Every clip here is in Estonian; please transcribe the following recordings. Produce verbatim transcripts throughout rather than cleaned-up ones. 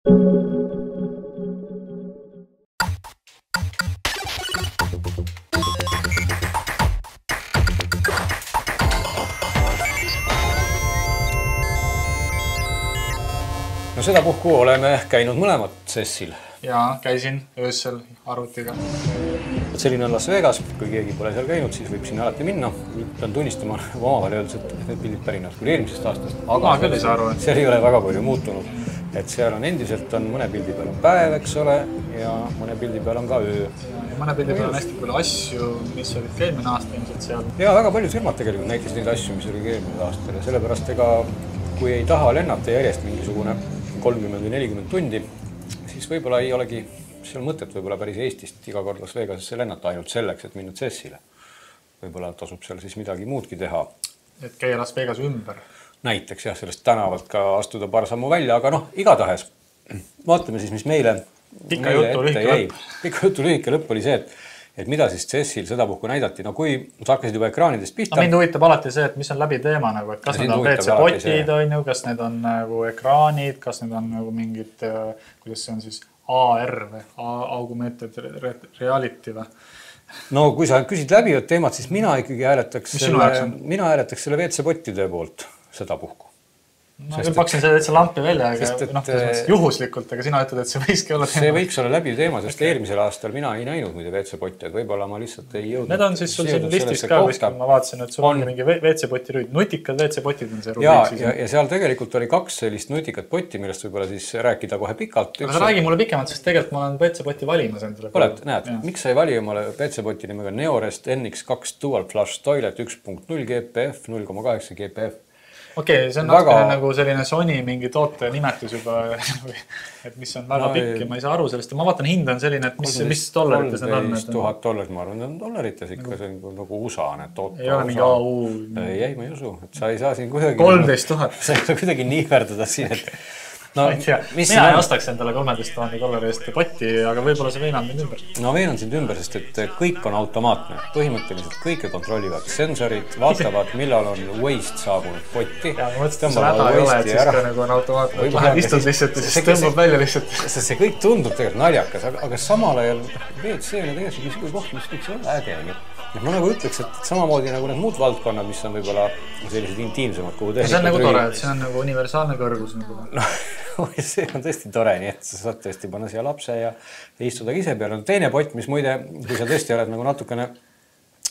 No sedapuhku oleme käinud mõlemad sessil. Jaa, käisin öössel arvutiga. Selline on Las Vegas, kui keegi pole seal käinud, siis võib sinna alati minna. Pean tunnistama omavahel öeldes, et need pildid pärinevad küll eelmisest aastast. Aga küll ei saa aru. Seal ei ole väga palju muutunud. Et seal on endiselt on mõne pildi peal on päev, eks ole, ja mõne pildi peal on ka öö. Ja mõne pildi peal on hästi palju asju, mis olid eelmine aasta ilmselt seal. Ja väga palju firmad tegelikult näitas neid asju, mis oli eelmine aasta. Ja sellepärast ega, kui ei taha lennata järjest mingisugune kolmkümmend või nelikümmend tundi, siis võib-olla ei olegi seal mõtet võib-olla päris Eestist iga kord Las Vegasesse lennata ainult selleks, et minna Cessile. Võib-olla tasub seal siis midagi muudki teha. Et käia Las Vegas ümber. Näiteks jah, sellest tänavalt ka astuda paar sammu välja, aga noh, igatahes vaatame siis, mis meile Pika jutu lühike lõpp. Pika jutu lühike lõpp oli see, et, et mida siis Cessil sedapuhku näidati. No kui sa hakkasid juba ekraanidest pihta... No mind huvitab alati see, et mis on läbi teema, nagu, et kas need on W C-potid, on ju, kas need on nagu ekraanid, kas need on nagu mingid, kuidas see on siis A R või augmented reality või? No kui sa küsid läbivad teemad, siis mina ikkagi hääletaks selle, mina hääletaks selle W C-potide poolt sedapuhku. Ma küll paksin selle täitsa lampi välja, aga noh, juhuslikult, aga sina ütled, et see võikski olla teema. See võiks olla läbi teema, sest eelmisel aastal mina ei näinud muide W C-potti, et võib-olla ma lihtsalt ei jõudnud. Need on siis sul siin listis ka, kuskil ma vaatasin, et sul on mingi W C-poti rüüd. Nutikad W C-potid on see rubriik. Ja, ja seal tegelikult oli kaks sellist nutikat potti, millest võib-olla siis rääkida kohe pikalt. Aga sa räägi mulle pikemalt, sest tegelikult ma olen W C-poti valimas endale. Oled, näed, miks sa ei vali omale W C-poti nimega Neorest N X kaks Dual Flush Toilet üks punkt null G P F, null koma kaheksa G P F? Okei, okay, see on väga... natukene nagu selline Sony mingi toote nimetus juba, et mis on väga no, pikk ja ma ei saa aru sellest. Ma vaatan, hind on selline, et mis, mis dollarites need on? kolmteist tuhat dollarit, ma arvan, need on dollarites ikka, see on nagu U S A need toote. Ei ole mingi A U. Ei, ei, ma ei usu, et sa ei saa siin kuidagi... kolmteist tuhat. Sa ei saa kuidagi niiverdada siin, et... No, ma ei tea, mina ei ostaks endale kolmteist tuhande dollari eest potti, aga võib-olla see veenan mind ümber. No veenan sind ümber, sest et kõik on automaatne. Põhimõtteliselt kõike kontrollivad sensorid, vaatavad, millal on Waste saabunud potti. Ja ma mõtlesin, et see häda ei ole, et siis ka nagu on automaatne. Lähed istud lihtsalt ja siis tõmbab välja lihtsalt. See kõik tundub tegelikult naljakas, aga samal ajal W C on tegelikult niisugune koht, mis võiks olla äge. Ma nagu ütleks, et samamoodi nagu need muud valdkonnad, mis on võib-olla sellised intiimsemad, kuhu teha. See on nagu tore, et see on nagu universaalne kõrgus. No, see on tõesti tore, nii et sa saad tõesti panna siia lapse ja istuda ise peale. Teine pott, mis muide, kui sa tõesti oled nagu natukene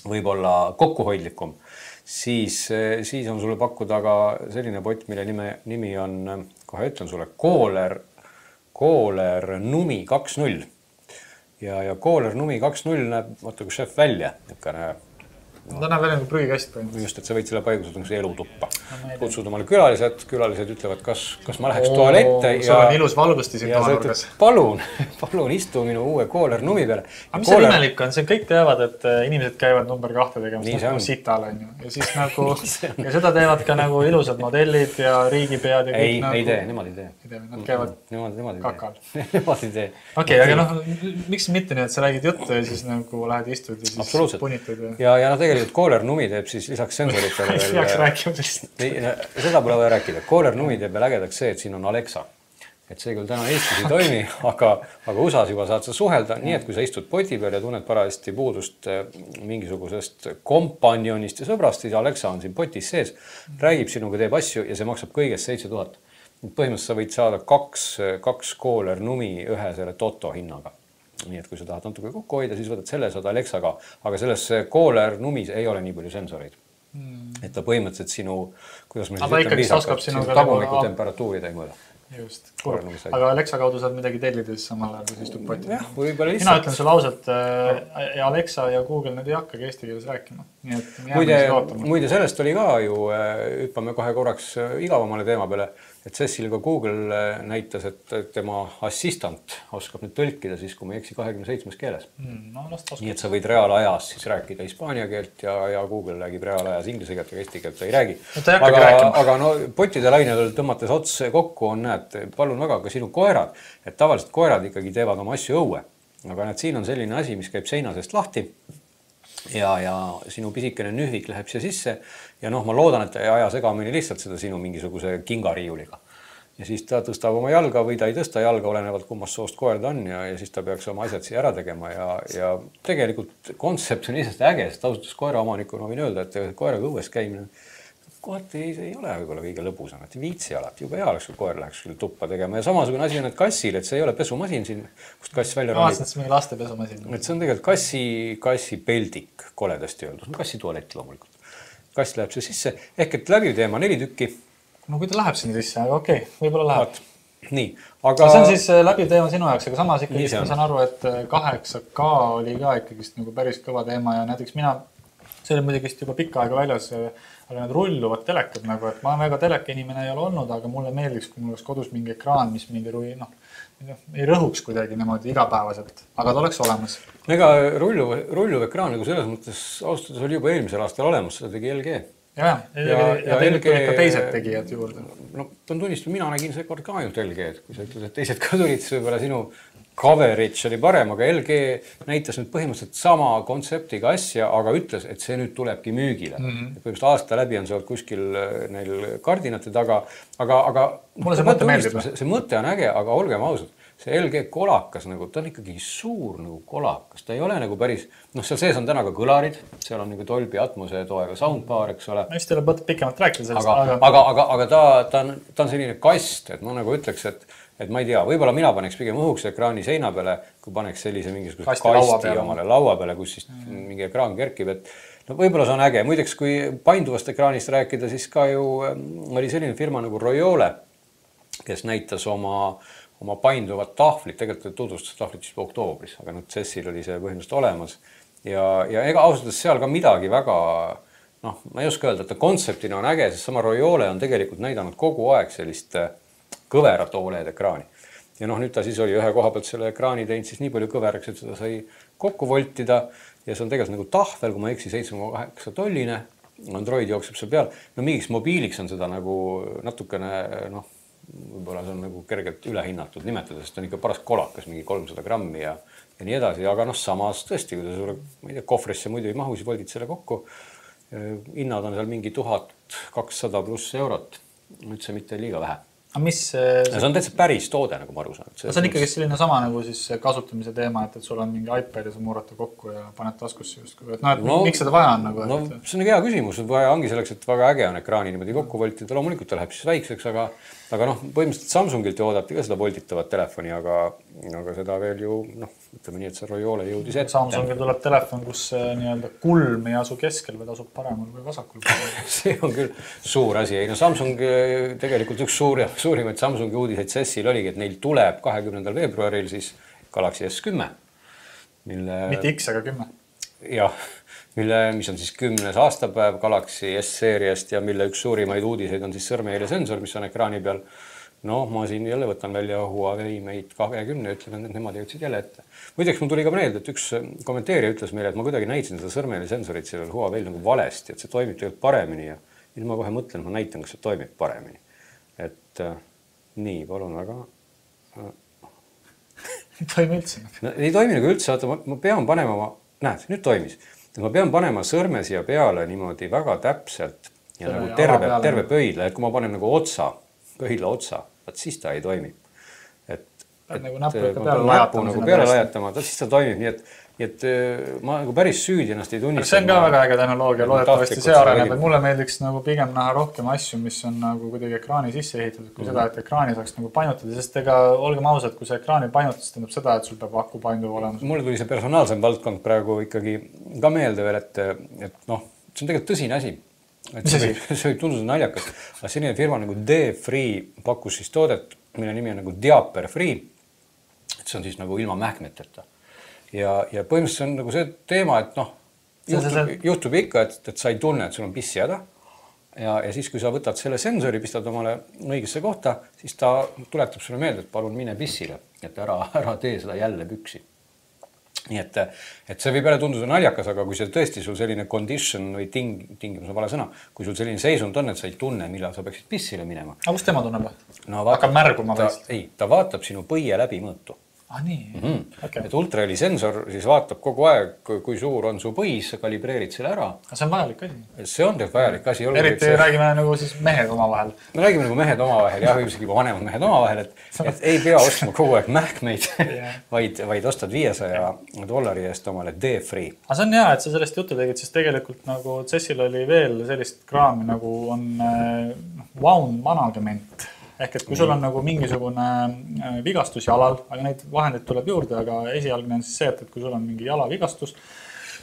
võib-olla kokkuhoidlikum, siis, siis on sulle pakkuda ka selline pott, mille nime, nimi on, kohe ütlen sulle, Kohler, Kohler Numi kaks null. Ja, ja Kohler Numi kaks null näeb, vaata kui šef välja. Nikkane, no, ta näeb välja nagu prügikast põhimõtteliselt. Just, et sa võid selle paigutada nagu elutuppa. No, kutsud omale külalised, külalised ütlevad, kas, kas ma läheks toalette ja... Sul on ilus valgusti siin toanurgas. Palun, palun istu minu uue Kohler Numi peale. Aga mis see imelik on? See kõik teavad, et inimesed käivad number kahte tegemas nagu sital, on ju. Ja siis nagu, ja seda teevad ka nagu ilusad modellid ja riigipead ja kõik ei, nagu... Ei tee, nemad ei tee. Ei tee, nad käivad nemad, nemad kakal. Nemad ei tee. Okei, aga noh, miks mitte nii, et sa räägid juttu ja siis nagu lähed istud ja siis punitud ja... Ja, ja no tegelikult Kohler Numi teeb siis lisaks sensoritele veel... Ei peaks rääkima sellist. Seda pole vaja rääkida. Kohler Numi teeb veel ägedaks see, et siin on Alexa. Et see küll täna Eestis ei toimi, aga, aga U S A-s juba saad sa suhelda. Nii, et kui sa istud poti peal ja tunned parajasti puudust mingisugusest kompanjonist ja sõbrast, siis Alexa on siin potis sees, räägib sinuga, teeb asju ja see maksab kõigest seitse tuhat. Põhimõtteliselt sa võid saada kaks, kaks Kohler Numi ühe selle Toto hinnaga. Nii, et kui sa tahad natuke kokku hoida, siis võtad selle, saad Alexaga, aga selles Kohler Numis ei ole nii palju sensoreid. Mm. Et ta põhimõtteliselt sinu, kuidas me siis ütleme viisakalt, sinu tagumiku temperatuuri ta ei mõõda. Just, kurb. Aga Alexa kaudu saad midagi tellida siis samal ajal, kui istub poti. Jah, võib-olla lihtsalt. Mina ütlen sulle ausalt, ja Alexa ja Google need ei hakkagi eesti keeles rääkima. Nii et muide, muide sellest oli ka ju, hüppame kohe korraks igavamale teema peale, et Cessil ka Google näitas, et tema assistant oskab nüüd tõlkida siis, kui ma ei eksi kahekümne seitsmes keeles. Mm, no, nii et sa võid reaalajas siis rääkida hispaania keelt ja, ja Google räägib reaalajas inglise keelt ja eesti keelt ta ei räägi. No, aga, aga no potide lainel tõmmates ots kokku on, näed, palun väga ka sinu koerad, et tavaliselt koerad ikkagi teevad oma asju õue. Aga näed, siin on selline asi, mis käib seina seest lahti ja, ja sinu pisikene nühvik läheb siia sisse ja noh, ma loodan, et ei aja segamini lihtsalt seda sinu mingisuguse kingariiuliga. ja siis ta tõstab oma jalga või ta ei tõsta jalga, olenevalt kummast soost koer ta on ja, ja siis ta peaks oma asjad siia ära tegema ja, ja tegelikult kontsept on isest äge, sest ausalt koera omanikuna võin öelda, et koeraga õues käimine kohati ei, ei ole võib-olla kõige lõbusam, et viitsi alati, juba hea oleks, kui koer läheks küll tuppa tegema ja samasugune asi on, et kassil, et see ei ole pesumasin siin, kust kass välja ronib. Aastast mingi laste pesumasin. Et see on tegelikult kassi, kassi peldik, koledasti öeldud, kassi tualett loomulikult. Kass läheb see sisse, ehk et läbiv teema neli tükki. No kui ta läheb sinna sisse, aga okei, okay, võib-olla läheb. Nii, aga... See on siis läbiv teema sinu jaoks, aga samas ikkagi ma saan aru, et kaheksa K oli ka ikkagi nagu päris kõva teema ja näiteks mina, see oli muidugi juba pikka aega väljas, aga need rulluvad telekad nagu, et ma väga teleka inimene ei ole olnud, aga mulle meeldiks, kui mul oleks kodus mingi ekraan, mis mingi rui, noh, ei rõhuks kuidagi niimoodi igapäevaselt, aga ta oleks olemas. Ega rulluv, rulluv ekraan nagu selles mõttes austades oli juba eelmisel aastal olemas, seda tegi L G. Ja, ja, ja, ja L G ka teised tegijad juurde. No, pean tunnistama, mina nägin see kord ka ainult L G, et kui sa ütled, et teised ka tulid, siis võib-olla sinu coverage oli parem, aga L G näitas nüüd põhimõtteliselt sama kontseptiga asja, aga ütles, et see nüüd tulebki müügile. Mm -hmm. Põhimõtteliselt aasta läbi on see olnud kuskil neil kardinate taga, aga, aga mulle see mõte meeldib. See, see mõte on äge, aga olgem ausad, see L G kolakas, nagu, ta on ikkagi suur nagu kolakas, ta ei ole nagu päris, noh, seal sees on täna ka kõlarid, seal on nagu Dolby Atmose toega soundbar, eks ole. Ma just ei ole mõtet pikemalt rääkida sellest. Aga, aga, aga, aga ta, ta, on, ta on selline kast, et ma nagu ütleks, et et ma ei tea, võib-olla mina paneks pigem õhuks ekraani seina peale, kui paneks sellise mingisuguse kasti, kasti laua peale. omale laua peale, kus siis mm. mingi ekraan kerkib, et no võib-olla see on äge. Muideks, kui painduvast ekraanist rääkida, siis ka ju oli selline firma nagu Royole, kes näitas oma, oma painduvat tahvlit, tegelikult tutvustas tahvlit juba oktoobris, aga nüüd C E S-il oli see põhimõtteliselt olemas ja, ja ega ausalt seal ka midagi väga, noh, ma ei oska öelda, et ta kontseptina on äge, sest sama Royole on tegelikult näidanud kogu aeg sellist kõverat O L E D ekraani. Ja noh, nüüd ta siis oli ühe koha pealt selle ekraani teinud siis nii palju kõveraks, et seda sai kokku voltida ja see on tegelikult nagu tahvel, kui ma eksi seitse koma kaheksa tolline, Android jookseb seal peal. No mingiks mobiiliks on seda nagu natukene, noh, võib-olla see on nagu kergelt ülehinnatud nimetada, sest on ikka paras kolakas, mingi kolmsada grammi ja, ja nii edasi, aga noh, samas tõesti, kui ta sulle, ma ei tea, kohvrisse muidu ei mahu, siis voldid selle kokku. Hinnad on seal mingi tuhat kakssada pluss eurot, nüüd see mitte liiga vähe. Aga mis... See on täitsa päris toode, nagu ma aru saan. See on ikkagi selline sama nagu siis kasutamise teema, et, et sul on mingi iPad ja sa murrata kokku ja paned taskusse just. Et no, et no, miks seda vaja on? Nagu, no, et... See on hea küsimus. Vaja ongi selleks, et väga äge on ekraani niimoodi kokku voltida. Loomulikult ta läheb siis väikseks, aga, aga noh, põhimõtteliselt Samsungilt ju oodati ka seda volditavat telefoni, aga, aga seda veel ju, noh, ütleme nii, et see Royole jõudis ette. Samsungil tuleb telefon, kus nii-öelda kulm ei asu keskel, või asub paremal või vasakul. See on küll suur asi. Ei, no Samsung tegelikult üks suur suurimaid Samsungi uudiseid C E S-il oligi, et neil tuleb kahekümnendal veebruaril siis Galaxy S kümme. Mille... Mitte X, aga kümme. Jah, mille, mis on siis kümnes aastapäev Galaxy S-seeriast ja mille üks suurimaid uudiseid on siis sõrmejäljesensor, mis on ekraani peal. No, ma siin jälle võtan välja Huawei Mate kakskümmend ja ütlen, et nemad jõudsid jälle ette. Muideks mul tuli ka meelde, et üks kommenteerija ütles meile, et ma kuidagi näitasin seda sõrmejäljesensorit sellel Huawei nagu valesti, et see toimib tegelikult paremini ja nüüd ma kohe mõtlen, ma näitan, kas see toimib paremini. Et äh, nii, palun väga. Ei toimi üldse. No, ei toimi nagu üldse, vaata, ma, ma pean panema, ma, näed, nüüd toimis. Ma pean panema sõrme siia peale niimoodi väga täpselt ja nagu terve, terve pöidla, et kui ma panen nagu otsa, pöidla otsa, vaat siis ta ei toimi. Et, et nagu näppu ikka peale lajatama. Nagu peale lajatama, siis ta toimib, nii et, nii et ma nagu päris süüdi ennast ei tunnista. See on ka väga äge tehnoloogia, loodetavasti see areneb, et mulle meeldiks nagu pigem näha rohkem asju, mis on nagu kuidagi ekraani sisse ehitatud, kui mm. seda, et ekraani saaks nagu painutada, sest ega olgem ausad, kui see ekraani painutas, tähendab seda, et sul peab aku painduv olema. Mulle tuli see personaalsem valdkond praegu ikkagi ka meelde veel, et, et noh, see on tegelikult tõsine asi. Et see, võib, see võib tunduda naljakas, aga selline firma nagu D-Free pakkus siis toodet, mille nimi on nagu Diaper Free. Et see on siis nagu ilma mähkmeteta. Ja, ja põhimõtteliselt on nagu see teema, et noh, juhtub, juhtub ikka, et, et sa ei tunne, et sul on pissi häda. Ja, ja siis, kui sa võtad selle sensori, pistad omale õigesse kohta, siis ta tuletab sulle meelde, et palun mine pissile, et ära, ära tee seda jälle püksi. Nii et, et see võib jälle tunduda naljakas, aga kui see tõesti sul selline condition või ting, tingimus on vale sõna, kui sul selline seisund on, et sa ei tunne, millal sa peaksid pissile minema. Aga kus tema tunneb? No, hakkab märguma ta, ei, ta vaatab sinu põie läbi mõõtu. Ah, nii. Mm-hmm. Okay. Et ultraheli sensor siis vaatab kogu aeg, kui, kui suur on su põis, kalibreerid selle ära. See on vajalik asi. See on tegelikult vajalik asi. Eriti see... räägime nagu siis mehed omavahel. Me räägime nagu mehed omavahel, jah, üldsegi juba vanemad mehed omavahel, et, et ei pea ostma kogu aeg mähkmeid, yeah. vaid, vaid ostad viiesaja dollari eest omale D-Free. Aga see on hea, et sa sellest juttu tegid, sest tegelikult nagu Cessil oli veel sellist kraami nagu on wound management. Ehk et kui sul on nagu mingisugune vigastus jalal, aga neid vahendeid tuleb juurde, aga esialgne on siis see, et kui sul on mingi jalavigastus,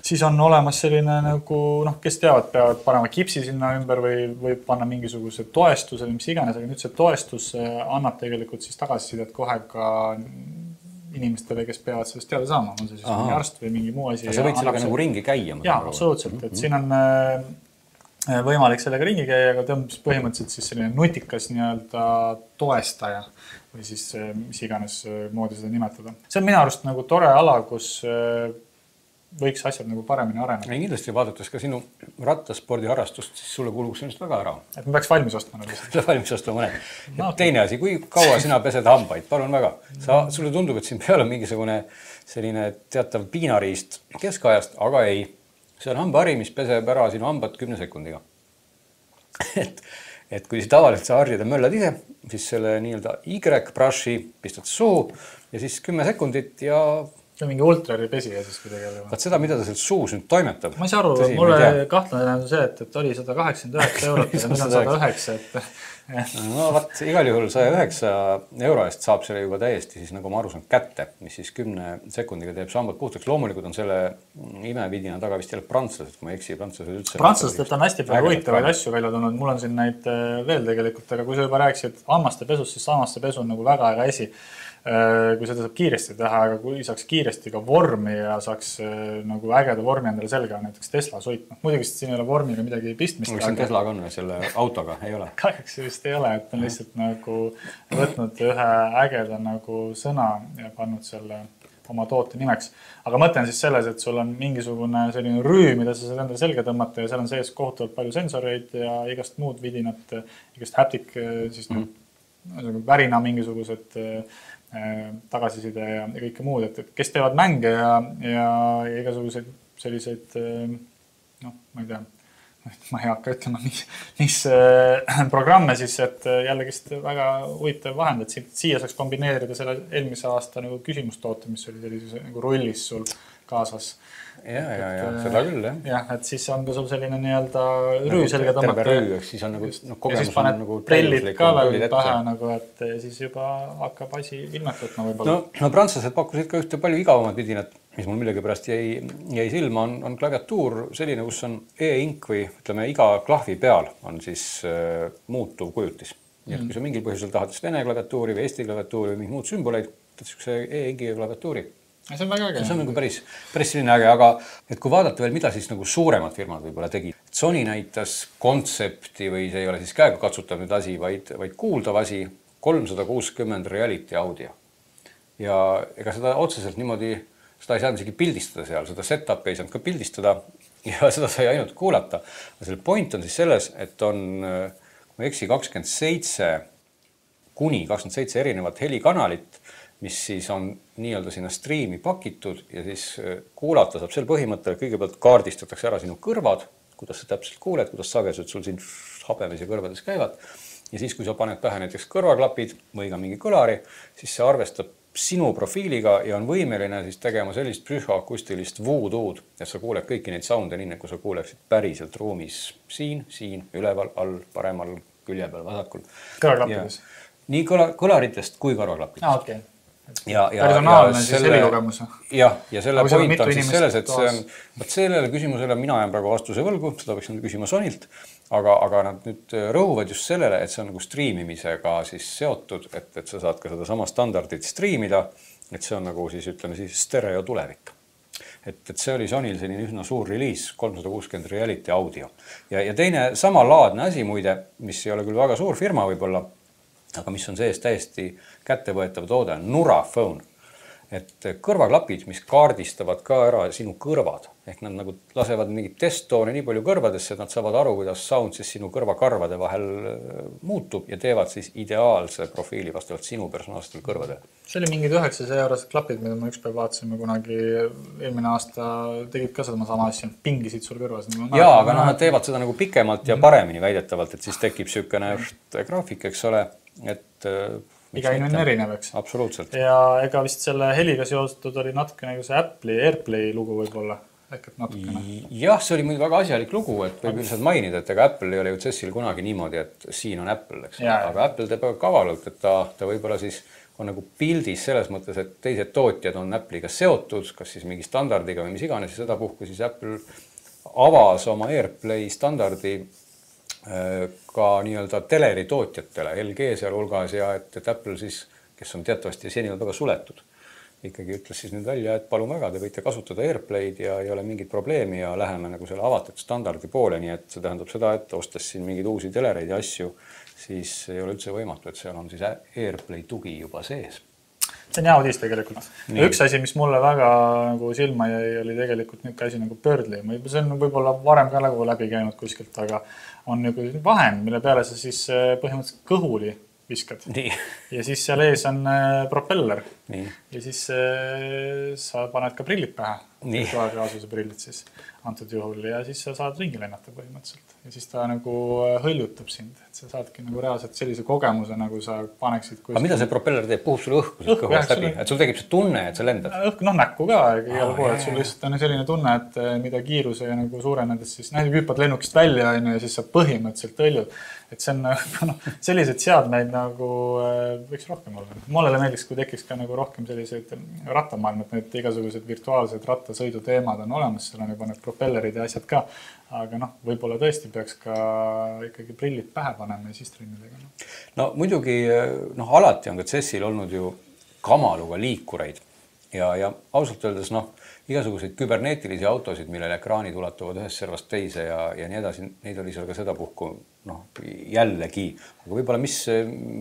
siis on olemas selline nagu, noh, kes teavad, peavad panema kipsi sinna ümber või, või panna mingisuguse toestuse või mis iganes, aga nüüd see toestus annab tegelikult siis tagasisidet kohe ka inimestele, kes peavad sellest teada saama. On see siis Aha. mingi arst või mingi muu asi. Ja sa võid sellega nagu ringi käia? Jaa, absoluutselt. Et siin on võimalik sellega ringi käia, aga tõmbas põhimõtteliselt siis selline nutikas nii-öelda toestaja või siis mis iganes moodi seda nimetada. See on minu arust nagu tore ala, kus võiks asjad nagu paremini areneda. Ja kindlasti vaadates ka sinu rattaspordi harrastust, siis sulle kuuluks sellest väga ära. Et me peaks valmis ostma nagu seda. valmis ostma mõned. No, okay. Teine asi, kui kaua sina pesed hambaid? Palun väga. Sa, sulle tundub, et siin peal on mingisugune selline teatav piinariist keskajast, aga ei. See on hambahari, mis peseb ära sinu hambad kümne sekundiga. et, et kui tavaliselt sa harjad ja möllad ise, siis selle nii-öelda Y-brushi pistad suu ja siis kümme sekundit ja... See on mingi ultrari pesi ja siis kuidagi... Vaat seda, mida ta seal suus nüüd toimetab. Ma ei saa aru, Tõsi, mulle kahtlane on see, et, et oli sada kaheksakümmend üheksa eurot ja nüüd on sada üheksa, et... No vaat, igal juhul saja üheksa euro eest saab selle juba täiesti siis nagu ma aru saan kätte, mis siis kümne sekundiga teeb sambad puhtaks. Loomulikult on selle imevidina taga vist jälle prantslased, kui ma eksi, prantslased üldse. Prantslased on hästi palju huvitavaid asju välja tulnud. Mul on siin neid veel tegelikult, aga kui sa juba rääkisid hammaste pesust, siis hammaste pesu on nagu väga äge asi. Kui seda saab kiiresti teha, aga kui saaks kiiresti ka vormi ja saaks nagu ägeda vormi endale selga, näiteks Tesla suit. No, muidugi siin ei ole vormiga midagi pistmist. Mis on Teslaga on selle autoga? Ei ole? Kahjuks vist ei ole, et on lihtsalt nagu võtnud ühe ägeda nagu sõna ja pannud selle oma toote nimeks. Aga mõte on siis selles, et sul on mingisugune selline rüü, mida sa saad endale selga tõmmata ja seal on sees kohutavalt palju sensoreid ja igast muud vidinat, igast haptic, siis mm -hmm. värina mingisugused tagasiside ja kõike muud, et, et kes teevad mänge ja, ja, ja igasuguseid selliseid, noh, ma ei tea, ma ei hakka ütlema, mis, mis programme siis, et jällegist väga huvitav vahend, et siia saaks kombineerida selle eelmise aasta nagu küsimustoote, mis oli sellises nagu rollis sul kaasas. Ja, ja, ja, seda küll, jah. Jah, et siis on ka sul selline nii-öelda rüü selga tõmmata. Terve rüü, eks siis on nagu no, kogemus. Ja siis paned nagu prellid ka veel pähe, nagu, et siis juba hakkab asi ilmet võtma võib-olla. No, no prantslased pakkusid ka ühte palju igavamad vidinat, mis mul millegi pärast jäi, jäi silma, on, on klaviatuur selline, kus on e-ink või ütleme, iga klahvi peal on siis äh, muutuv kujutis. Nii, et kui sa mingil põhjusel tahad vene klaviatuuri või eesti klaviatuuri või mingid muud sümboleid, võtad siukse e-ingi klaviatuuri. See on väga äge. See on nagu päris, päris selline äge, aga et kui vaadata veel, mida siis nagu suuremad firmad võib-olla tegid. Sony näitas kontsepti või see ei ole siis käega katsutav nüüd asi, vaid, vaid kuuldav asi kolmsada kuuskümmend reality audio. Ja ega seda otseselt niimoodi, seda ei saanud isegi pildistada seal, seda set-up'i ei saanud ka pildistada ja seda sai ainult kuulata. Aga selle point on siis selles, et on, kui ma eksi, kakskümmend seitse kuni kakskümmend seitse erinevat helikanalit, mis siis on nii-öelda sinna striimi pakitud ja siis kuulata saab sel põhimõttel, kõigepealt kaardistatakse ära sinu kõrvad, kuidas sa täpselt kuuled, kuidas sagedused sul siin habemes ja kõrvades käivad. Ja siis, kui sa paned pähe näiteks kõrvaklapid või ka mingi kõlari, siis see arvestab sinu profiiliga ja on võimeline siis tegema sellist psühhoakustilist voodoo'd, et sa kuuled kõiki neid sounde nii, kui sa kuuleksid päriselt ruumis siin, siin, üleval, all, paremal, külje peal, vasakul. Kõrvaklappides? Nii kõla, kõlaritest kui kõrvaklappides. Ah, okei. Okay. Ja, ja, personaalne ja siis helikogemus. Jah, ja selle point on siis selles, et see on, võt sellele küsimusele mina jään praegu vastuse võlgu, seda võiks nüüd küsima Sonilt, aga, aga nad nüüd rõhuvad just sellele, et see on nagu striimimisega siis seotud, et, et sa saad ka seda sama standardit striimida, et see on nagu siis ütleme siis stereo tulevik. Et, et see oli Sonil selline üsna suur reliis, kolmsada kuuskümmend reality audio. Ja, ja teine sama laadne asi muide, mis ei ole küll väga suur firma võib-olla, aga mis on sees täiesti kättevõetav toode, Nura Phone. et kõrvaklapid, mis kaardistavad ka ära sinu kõrvad, ehk nad nagu lasevad mingit testtooni nii palju kõrvadesse, et nad saavad aru, kuidas sound siis sinu kõrvakarvade vahel muutub ja teevad siis ideaalse profiili vastavalt sinu personaalsetele kõrvadele. See oli mingid üheksasaja eurosed klapid, mida ma ükspäev vaatasime kunagi eelmine aasta, tegid ka seda sama asja, pingisid sul kõrvas. Jaa, aga noh, nad teevad seda nagu pikemalt ja paremini väidetavalt, et siis tekib sükene graafik, eks ole, et iga inimene erinev, eks. Absoluutselt. Ja ega vist selle heliga seostatud oli natuke nagu see Apple'i AirPlay lugu võib-olla. Ehk et natukene. Jah, see oli muidu väga asjalik lugu, et võib üldiselt mainida, et ega Apple ei ole ju C E S-il kunagi niimoodi, et siin on Apple, eks. Ja, aga Apple teeb kavalalt, et ta, ta võib-olla siis on nagu pildis selles mõttes, et teised tootjad on Apple'iga seotud, kas siis mingi standardiga või mis iganes ja seda puhku siis Apple avas oma AirPlay standardi ka nii-öelda teleri tootjatele, L G seal hulgas ja et, et Apple siis, kes on teatavasti seni on väga suletud, ikkagi ütles siis nüüd välja, et palun väga, te võite kasutada AirPlay'd ja ei ole mingit probleemi ja läheme nagu selle avatud standardi poole, nii et see tähendab seda, et ostes siin mingeid uusi telereid ja asju, siis ei ole üldse võimatu, et seal on siis AirPlay tugi juba sees. See on hea uudis tegelikult. Ja üks asi, mis mulle väga nagu silma jäi, oli tegelikult nüüd asi nagu Birdly. See on võib-olla varem ka nagu läbi käinud kuskilt, aga on nagu vahend, mille peale sa siis põhimõtteliselt kõhuli viskad. Nii. Ja siis seal ees on propeller. Nii. Ja siis sa paned ka prillid pähe. Virtuaalreaalsuse prillid siis antud juhul ja siis sa saad ringi lennata põhimõtteliselt. Ja siis ta nagu hõljutab sind, et sa saadki nagu reaalselt sellise kogemuse, nagu sa paneksid kuskil. Aga mida see propeller teeb? Puhub sulle õhku siis kõhust läbi? Et sul tekib see tunne, et sa lendad? Õhku, noh näkku ka, igal pool, et sul lihtsalt on selline tunne, et mida kiiruse nagu suurenedes siis näiteks hüppad lennukist välja ja siis sa põhimõtteliselt hõljud. Et see on no, sellised seadmeid nagu võiks rohkem olla. Mulle meeldiks, kui tekiks ka nagu rohkem selliseid rattamaailmad, need igasugused virtuaalsed rattasõidu teemad on olemas, seal on juba need propellerid ja asjad ka. Aga noh, võib-olla tõesti peaks ka ikkagi prillid pähe panema ja siis trennidega. No muidugi, noh alati on ka C E S-il olnud ju kamaluga liikureid ja, ja ausalt öeldes, noh, igasuguseid küberneetilisi autosid, millele ekraanid ulatuvad ühest servast teise ja, ja nii edasi, neid oli seal ka seda puhku, noh, jällegi. Aga võib-olla mis,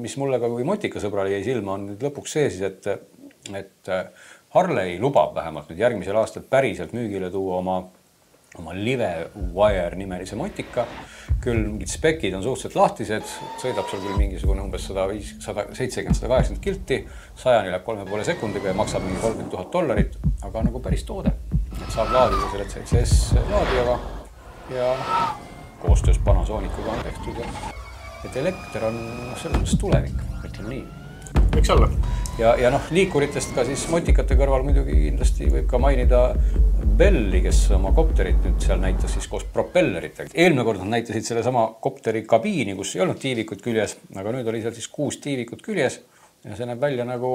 mis mulle ka kui motikasõbrale jäi silma on nüüd lõpuks see siis, et, et Harley lubab vähemalt nüüd järgmisel aastal päriselt müügile tuua oma oma Livewire nimelise motika. Küll mingid spekid on suhteliselt lahtised, sõidab seal küll mingisugune umbes sada seitsekümmend sada kaheksakümmend kilti, sajani läheb kolme poole sekundiga ja maksab mingi kolmkümmend tuhat dollarit, aga nagu päris toode. Et saab laadida selle C C S laadijaga ja koostöös Panasonicuga on tehtud. Et elekter on selles tulevik, ütleme nii. Võiks olla. Ja, ja noh, liikuritest ka siis motikate kõrval muidugi kindlasti võib ka mainida Belli, kes oma kopterit nüüd seal näitas siis koos propelleritega. Eelmine kord nad näitasid selle sama kopteri kabiini, kus ei olnud tiivikud küljes, aga nüüd oli seal siis kuus tiivikut küljes ja see näeb välja nagu,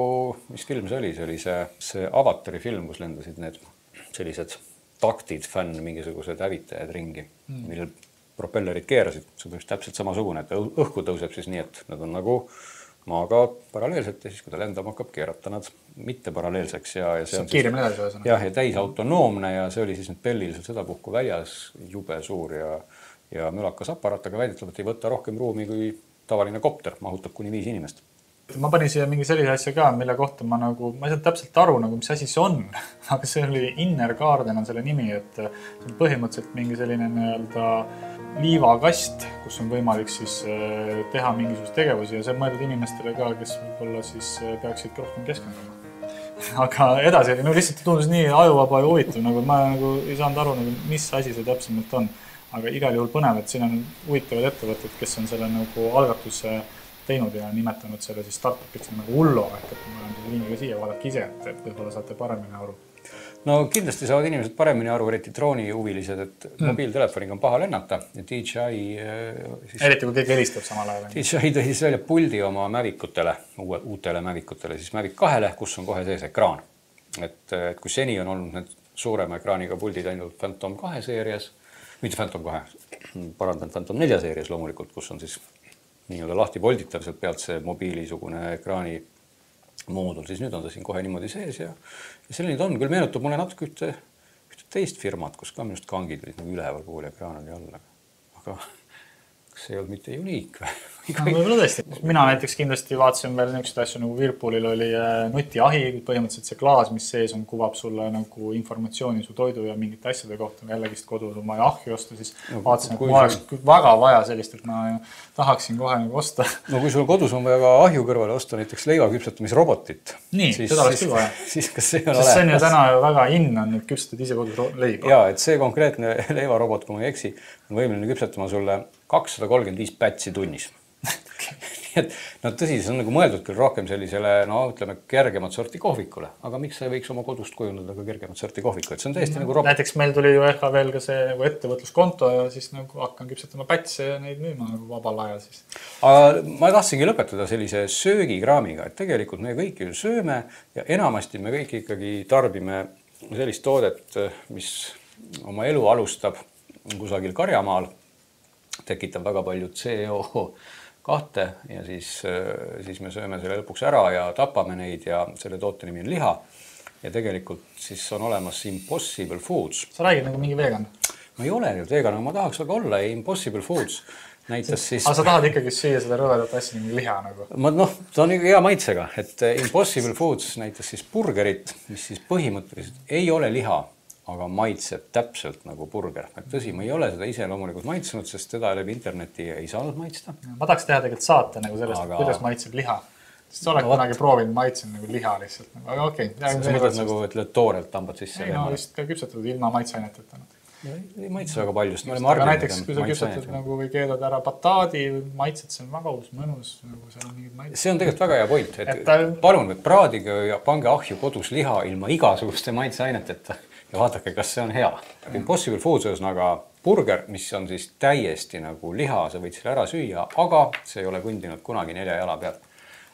mis film see oli, see oli see, see Avatari film, kus lendasid need sellised taktid, fänn, mingisugused hävitajad ringi, mm. millel propellerid keerasid. See on täpselt samasugune, et õhku tõuseb siis nii, et nad on nagu maaga paralleelselt ja siis, kui ta lendama hakkab, keerata nad mitte paralleelseks. Ja, ja see on kiirem edasi. Jah, ja täis autonoomne ja see oli siis nüüd Bellil seda puhku väljas jube suur ja, ja mülakas aparaat, aga väidetavalt ei võta rohkem ruumi kui tavaline kopter, mahutab kuni viis inimest. Ma panin siia mingi sellise asja ka, mille kohta ma nagu, ma ei saa täpselt aru, nagu, mis asi see on, aga see oli Inner Garden on selle nimi, et see on põhimõtteliselt mingi selline nii-öelda liivakast, kus on võimalik siis teha mingisugust tegevusi ja see on mõeldud inimestele ka, kes võib-olla siis peaksid rohkem keskenduma. Aga edasi, no lihtsalt tundus nii ajuvaba ja huvitav, nagu ma nagu ei saanud aru, nagu, mis asi see täpsemalt on. Aga igal juhul põnev, et siin on huvitavad ettevõtted, kes on selle nagu algatuse teinud ja nimetanud selle siis startupiks nagu Ullo, ehk et ma olen selle liiniga siia, vaadake ise, et võib-olla saate paremini aru. No kindlasti saavad inimesed paremini aru, eriti drooni huvilised, et mm. mobiiltelefoniga on paha lennata ja D J I siis, eriti kui keegi helistab samal ajal. D J I tõi siis välja puldi oma Mavicutele, uue, uutele Mavicutele, siis Mavic kahele, kus on kohe sees ekraan. Et, et kui seni on olnud need suurema ekraaniga puldid ainult Phantom kahe seerias, mitte Phantom kahe, parandan Phantom nelja seerias loomulikult, kus on siis nii-öelda lahti volditav sealt pealt see mobiilisugune ekraani moodul, siis nüüd on ta siin kohe niimoodi sees ja, ja selline ta on. Küll meenutab mulle natuke ühte, ühte teist firmat, kus ka minust kangid olid nagu üleval pool ekraan oli all. Aga kas ei olnud mitte uniik või? No, võib-olla tõesti. Mina näiteks kindlasti vaatasin veel niisuguseid asju nagu Whirlpoolil oli nutiahi, põhimõtteliselt see klaas, mis sees on, kuvab sulle nagu informatsiooni su toidu ja mingite asjade kohta. Jällegi kodus on vaja ahju osta, siis no, vaatasin, et mul oleks sul... väga vaja sellist, et ma tahaksin kohe nagu osta. No kui sul kodus on vaja ka ahju kõrvale osta näiteks leivaküpsetamisrobotit. Nii, siis, seda oleks küll vaja. Siis kas see on olemas? See on ju täna väga in on, et küpsetad ise kodus leiba. Jaa, et see konkreetne leivarobot, kui ma ei eksi, on võimeline küpsetama sulle kakssada kolmkümmend viis pätsi tunnis. Nii et no tõsi, see on nagu mõeldud küll rohkem sellisele, no ütleme, kergemat sorti kohvikule, aga miks sa ei võiks oma kodust kujundada ka kergemat sorti kohviku, et see on täiesti no, nagu robot. Näiteks meil tuli ju ehk veel ka see nagu ettevõtluskonto ja siis nagu hakkan küpsetama pätse ja neid müüma nagu vabal ajal siis. Aga ma tahtsingi lõpetada sellise söögikraamiga, et tegelikult me kõik ju sööme ja enamasti me kõik ikkagi tarbime sellist toodet, mis oma elu alustab kusagil karjamaal, tekitab väga palju C O kahte ja siis, siis me sööme selle lõpuks ära ja tapame neid ja selle toote nimi on liha. Ja tegelikult siis on olemas Impossible Foods. Sa räägid nagu mingi vegan? Ma ei ole nüüd vegan, aga ma tahaks väga olla. Impossible Foods näitas siis... Aga sa tahad ikkagi süüa seda rõvedat asja nagu liha nagu? Ma, noh, ta on hea maitsega, et Impossible Foods näitas siis burgerit, mis siis põhimõtteliselt ei ole liha, aga maitseb täpselt nagu burger. Et tõsi, ma ei ole seda ise loomulikult maitsenud, sest teda läbi interneti ei saanud maitsta. Ma tahaks teha tegelikult saate nagu sellest, aga... kuidas maitseb liha. Sest sa oled no, kunagi proovinud maitsen nagu liha lihtsalt. Aga okei. Okay. Sa mõtled nagu, et lööd toorelt tambad sisse? Ei, no vist ka küpsetatud ilma maitseaineteta. Ei maitse väga paljust. Aga näiteks, kui sa küpsetad nagu või keedad ära bataadi, maitsed, see on väga uus, mõnus. Nagu seal on mingid maitsed. See on tegelikult väga hea point. Et et ta... Palun, et praadige ja pange ahju kodus liha ilma igasuguste maitseaineteta. Ja vaadake, kas see on hea. Impossible Foods on aga burger, mis on siis täiesti nagu liha, sa võid selle ära süüa, aga see ei ole kõndinud kunagi nelja jala pealt.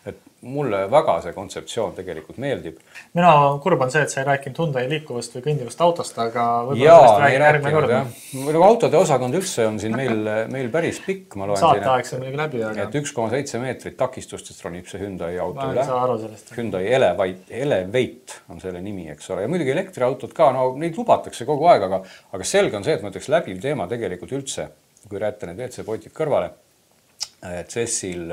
Et mulle väga see kontseptsioon tegelikult meeldib. Mina kurb on see, et sa ei rääkinud Hyundai liikuvast või kõndivast autost, aga võib-olla sellest räägin järgmine kord. Autode osakond üldse on siin meil, meil päris pikk. Saate aeg see muidugi läbi. Et üks koma seitse meetrit takistustest ronib see Hyundai auto ma üle. Ei saa aru sellest. Hyundai Elevate, Elevate on selle nimi, eks ole. Ja muidugi elektriautod ka, no neid lubatakse kogu aeg, aga, aga selge on see, et ma ütleks läbiv teema tegelikult üldse, kui rääta need V C potid kõrvale, et Cessil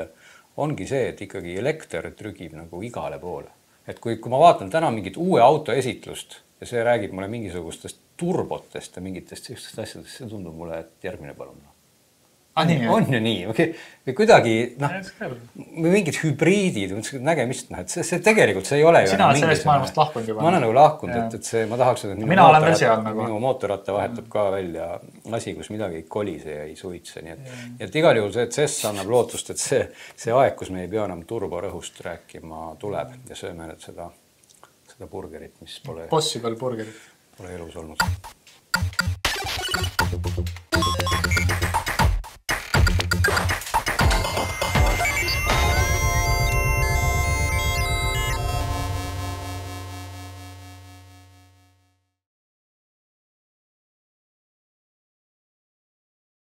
ongi see, et ikkagi elekter trügib nagu igale poole. Et kui, kui ma vaatan täna mingit uue auto esitlust ja see räägib mulle mingisugustest turbotest ja mingitest sellistest asjadest, see tundub mulle, et järgmine palun. Ah, nii, on ju nii, või kuidagi no, mingid hübriidid, nägemist, et see, see tegelikult see ei ole sina oled sellest maailmast lahkunud juba. Ma olen nagu lahkunud, et, et see, ma tahaks, et minu, Mina mootorratta, nagu. minu mootorratta vahetab ka välja asi, kus midagi ei kolise ja ei suitse. Nii et, ja. et igal juhul see, et C E S annab lootust, et see, see aeg, kus me ei pea enam turborõhust rääkima, tuleb ja sööme nüüd seda, seda burgerit, mis pole, Possible burgerit. Pole elus olnud.